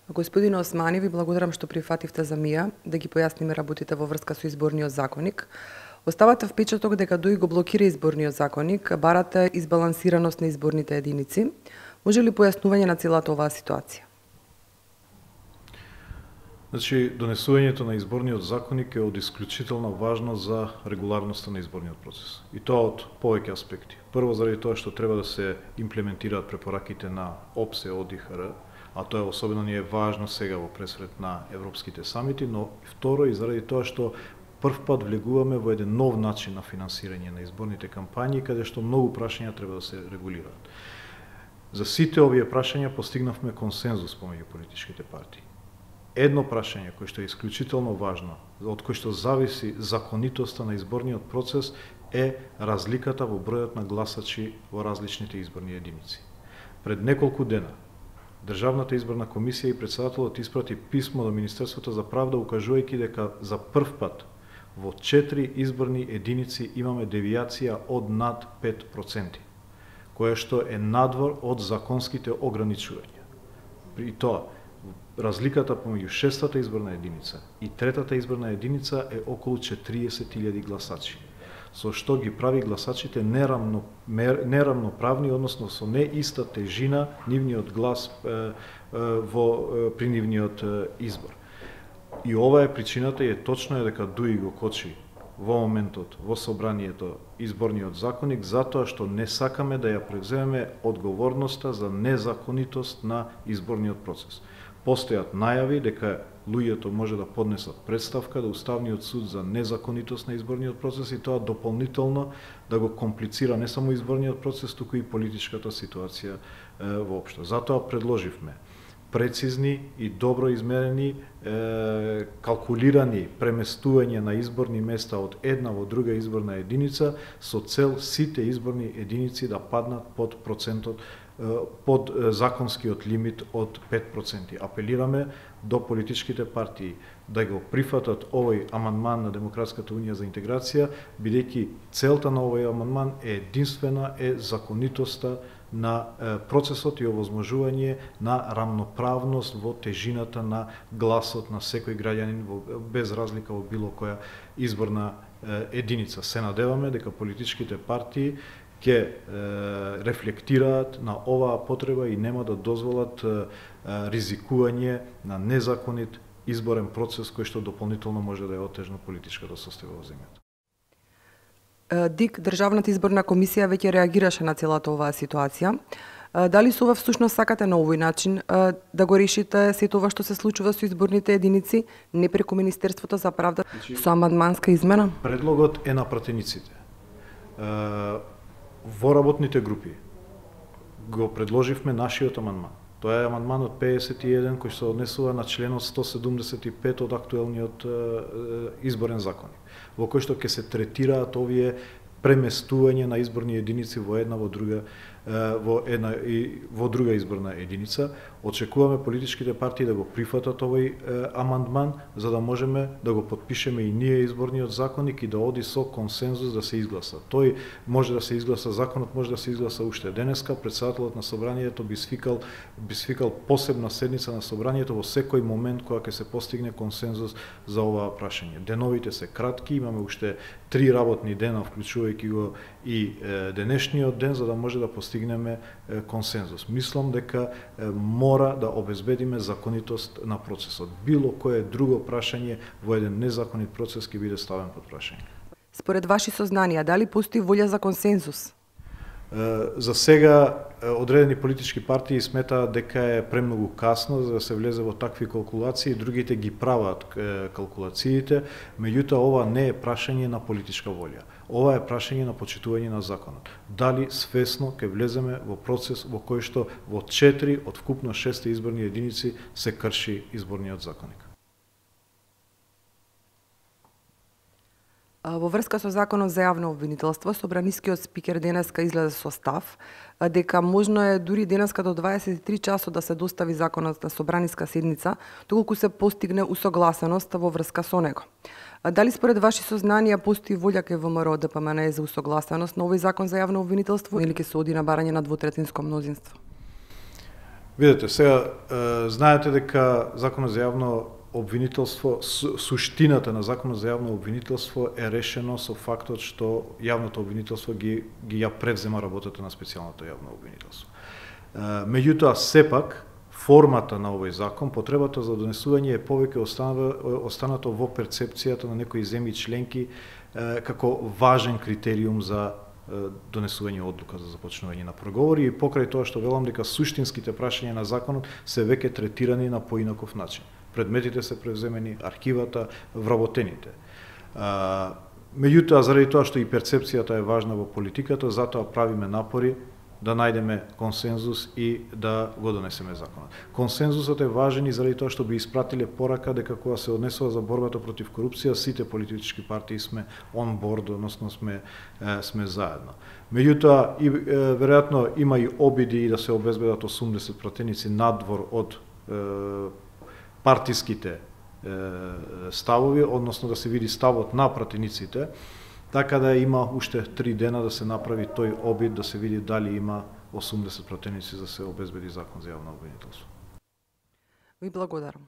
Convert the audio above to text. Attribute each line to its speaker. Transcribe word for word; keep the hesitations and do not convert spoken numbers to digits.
Speaker 1: Господин Османи, ви благодарам што прифативте за мија да ги појасниме работите во врска со изборниот законник. Оставате впечаток дека ДОИ го блокира изборниот законник, барате избалансираност на изборните единици. Може ли појаснување на целата оваа ситуација?
Speaker 2: Значи, донесувањето на изборниот законник е од исклучителна важност за регуларноста на изборниот процес. И тоа од повеќе аспекти. Прво, заради тоа што треба да се имплементираат препораките на ОПСЕ, ОДИХР, а тоа е особено ни е важно сега во пресред на европските самити, но второ и заради тоа што прв пат влегуваме во еден нов начин на финансирање на изборните кампањи, каде што многу прашања треба да се регулираат. За сите овие прашања постигнавме консензус помеѓу политичките партии. Едно прашање кој што е исклучително важно, од кој што зависи законитоста на изборниот процес, е разликата во бројот на гласачи во различните изборни единици. Пред неколку дена Државната изборна комисија и председателот испрати писмо до Министерството за правда, укажувајќи дека за прв пат во четири изборни единици имаме девијација од над пет проценти, која што е надвор од законските ограничувања. При тоа, разликата помеѓу шестата изборна единица и третата изборна единица е околу четириесет илјади гласачи, со што ги прави гласачите неравно, неравноправни, односно со не иста тежина нивниот глас е, е, во, е, при нивниот е, избор. И ова е причината и е точно е дека ДОИ го кочи во моментот во собранието изборниот законник, затоа што не сакаме да ја превземеме одговорноста за незаконитост на изборниот процес. Постојат најави дека луѓето може да поднесат представка до Уставниот суд за незаконитост на изборниот процес и тоа дополнително да го комплицира не само изборниот процес, туку и политичката ситуација е, воопшто. Затоа предложивме прецизни и добро измерени, е, калкулирани преместување на изборни места од една во друга изборна единица со цел сите изборни единици да паднат под процентот, под законскиот лимит од пет проценти. Апелираме до политичките партии да го прифатат овој амандман на Демократската унија за интеграција, бидејќи целта на овој амандман е единствена е законитоста на процесот и овозможување на рамноправност во тежината на гласот на секој граѓанин без разлика во било која изборна единица. Се надеваме дека политичките партии ќе рефлектираат на оваа потреба и нема да дозволат ризикување на незаконит изборен процес кој што дополнително може да ја отежна политичката состојба во земјата.
Speaker 1: ДИК, Државната изборна комисија, веќе реагираше на целата оваа ситуација. Дали со ова всушност сакате на овој начин да го решите сето ова што се случува со изборните единици, не преку Министерството за правда, со амандманска измена?
Speaker 2: Предлогот е на пратениците. Во работните групи го предложивме нашиот амандман. Тоа е амандманот педесет и еден кој се однесува на членот сто седумдесет и пет од актуелниот изборен законник, во кој што ќе се третираат овие преместување на изборни единици во една во друга во една и во друга изборна единица. Очекуваме политичките партии да го прифатат овој амандман за да можеме да го потпишеме и ние изборниот законник и да оди со консензус да се изгласа. Тој може да се изгласа, законот може да се изгласа уште денеска. Претседателот на собранието би свикал би свикал посебна седница на собранието во секој момент кога ќе се постигне консензус за оваа прашање. Деновите се кратки, имаме уште три работни дена, вклучувајќи го и е, денешниот ден, за да може да постигнеме е, консензус. Мислам дека е, мора да обезбедиме законитост на процесот. Било кое друго прашање во еден незаконит процес ќе биде ставен под прашање.
Speaker 1: Според ваши сознанија, дали постои волја за консензус?
Speaker 2: За сега одредени политички партии сметаат дека е премногу касно за да се влезе во такви калкулации, другите ги прават калкулациите, меѓутоа ова не е прашање на политичка волја. Ова е прашање на почитување на законот. Дали свесно ќе влеземе во процес во кој што во четири од вкупно шест изборни единици се крши изборниот законник.
Speaker 1: Во врска со законот за јавно обвинителство, собранискиот спикер денеска излезе со став дека можно е дури денеска до дваесет и три часот да се достави законот на собраниска седница, доколку се постигне усогласеност во врска со него. Дали според ваши сознанија постои волја кај ВМРО Д П М Н за усогласеност на овој закон за јавно обвинителство или ќе се оди на барање на двотретинско мнозинство?
Speaker 2: Видете, сега знаете дека Законот за јавно обвинителство, суштината на Законот за јавно обвинителство е решено со фактот што јавното обвинителство ги ги ја превзема работата на специјалното јавно обвинителство. Меѓутоа, сепак формата на овој закон, потребата за донесување е повеќе останато во перцепцијата на некои земји членки како важен критериум за донесување одлука за започнување на преговори и покрај тоа што велам дека суштинските прашања на законот се веќе третирани на поинаков начин. Предметите се превземени, архивата, вработените. Меѓутоа, заради тоа што и перцепцијата е важна во политиката, затоа правиме напори да најдеме консензус и да го донесеме законот. Консензусот е важен и заради тоа што би испратиле порака дека кога се однесува за борбата против корупција, сите политички партии сме on board, односно сме сме заедно. Меѓутоа, и веројатно има и обиди да се обезбедат осумдесет пратеници надвор од е, партиските е, ставови, односно да се види ставот на пратениците, така да има уште три дена да се направи тој обид, да се види дали има осумдесет пратеници за да се обезбеди закон за јавно обвинителство.
Speaker 1: Ви благодарам.